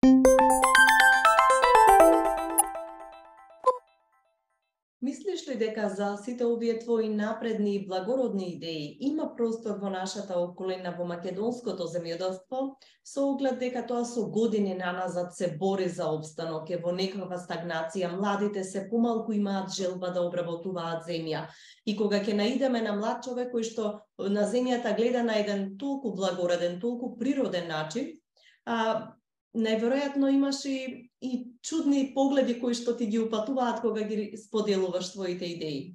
Мислиш ли дека за сите овие твои напредни и благородни идеи има простор во нашата околина во македонското земјоделство, со оглед дека тоа со години наназад се бори за опстанок, е во некаква стагнација, младите се помалку имаат желба да обработуваат земја. И кога ќе наидеме на млад човек кој што на земјата гледа на еден толку благороден, толку природен начин, најверојатно имаш и чудни погледи кои што ти ги упатуваат кога ги споделуваш твоите идеи.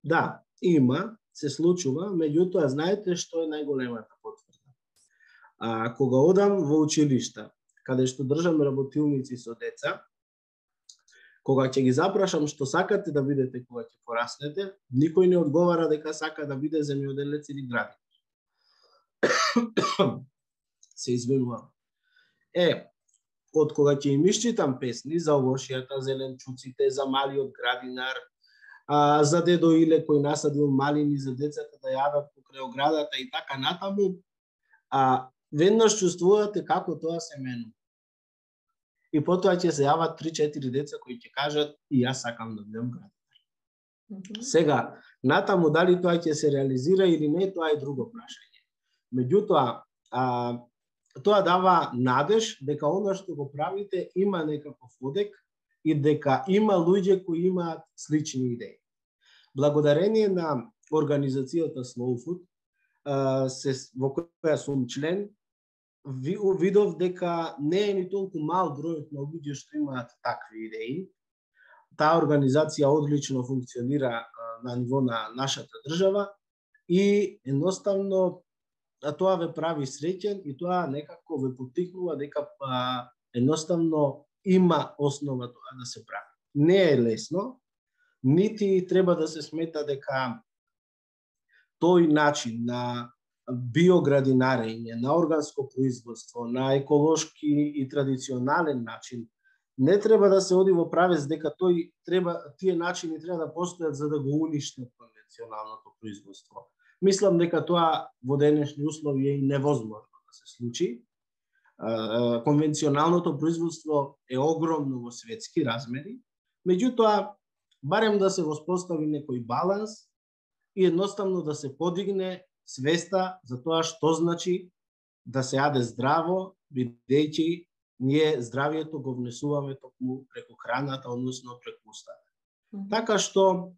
Да, има, се случува, меѓутоа знаете што е најголемата потврда? Кога одам во училишта, каде што држам работилници со деца, кога ќе ги запрашам што сакате да бидете кога ќе пораснете, никој не одговара дека сака да биде земјоделец или градинар. Се извинувам. Од кога ќе им исчитам песни за овошјата, зеленчуците, за малиот градинар, за дедо Иле кој насадил малини за децата да јадат покрај оградата и така натаму, веднаш чувствувате како тоа се менува. И потоа ќе се јават 3-4 деца кои ќе кажат и јас сакам да бидам градинар. Сега, натаму дали тоа ќе се реализира или не, тоа е друго прашање. Меѓутоа, тоа дава надеж дека она што го правите има некаков одек и дека има луѓе кои имаат слични идеи. Благодарение на организацијата Slow Food, во која сум член, видов дека не е ни толку мал бројот на луѓе што имаат такви идеи. Таа организација одлично функционира на ниво на нашата држава и едноставно тоа ве прави среќен и тоа некако ве поттикнува дека едноставно има основа тоа да се прави. Не е лесно, нити треба да се смета дека тој начин на биоградинарење, на органско производство, на еколошки и традиционален начин, не треба да се оди во правец дека тие начини треба да постојат за да го уништат конвенционалното производство. Мислам дека тоа во денешни услови е и невозможно да се случи. Конвенционалното производство е огромно во светски размери, меѓутоа барем да се воспостави некој баланс и едноставно да се подигне свеста за тоа што значи да се јаде здраво, бидејќи ние здравието го внесуваме токму преку храната, односно преку устата. Така што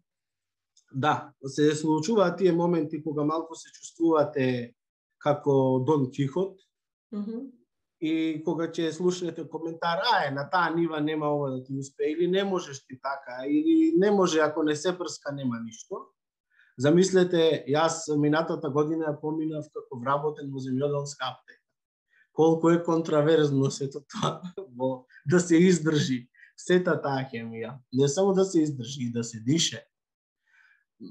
да, се случуваат тие моменти кога малку се чувствувате како Дон Кихот и кога ќе слушнете коментар, на таа нива нема ова да ти успее, или не можеш ти така, или не може ако не се прска нема ништо. Замислете, јас минатата година ја поминав како вработен во земјоделска аптека. Колку е контраверзно сето тоа да се издржи сета таа хемија. Не само да се издржи, да се дише.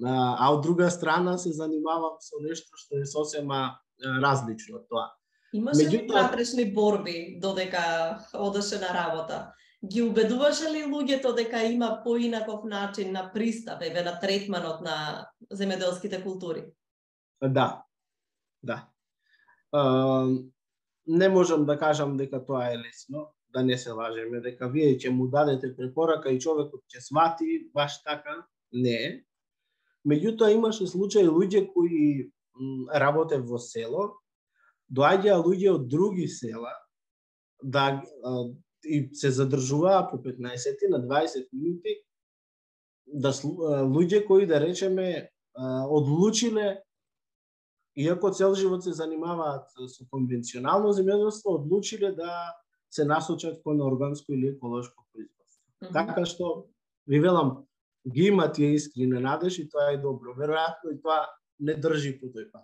А од друга страна се занимавам со нешто што е сосема различно од тоа. Имаше ли внатрешни борби додека одеше на работа? Ги убедуваше ли луѓето дека има поинаков начин на пристап, на третманот на земјоделските култури? Да. Не можам да кажам дека тоа е лесно, да не се лажеме, дека вие ќе му дадете препорака и човекот ќе свати, баш така, не е. Меѓутоа имаше случаи луѓе кои работе во село, доаѓаа луѓе од други села и се задржуваа по 15 на 20 минути, луѓе кои да речеме одлучиле, иако цел живот се занимаваат со конвенционално земјоделство, одлучиле да се насочат кон органско или еколошко производство. Така што ви велам, ги има тие искрени надежи и тоа е добро. Веројатно и тоа не држи по тој пат.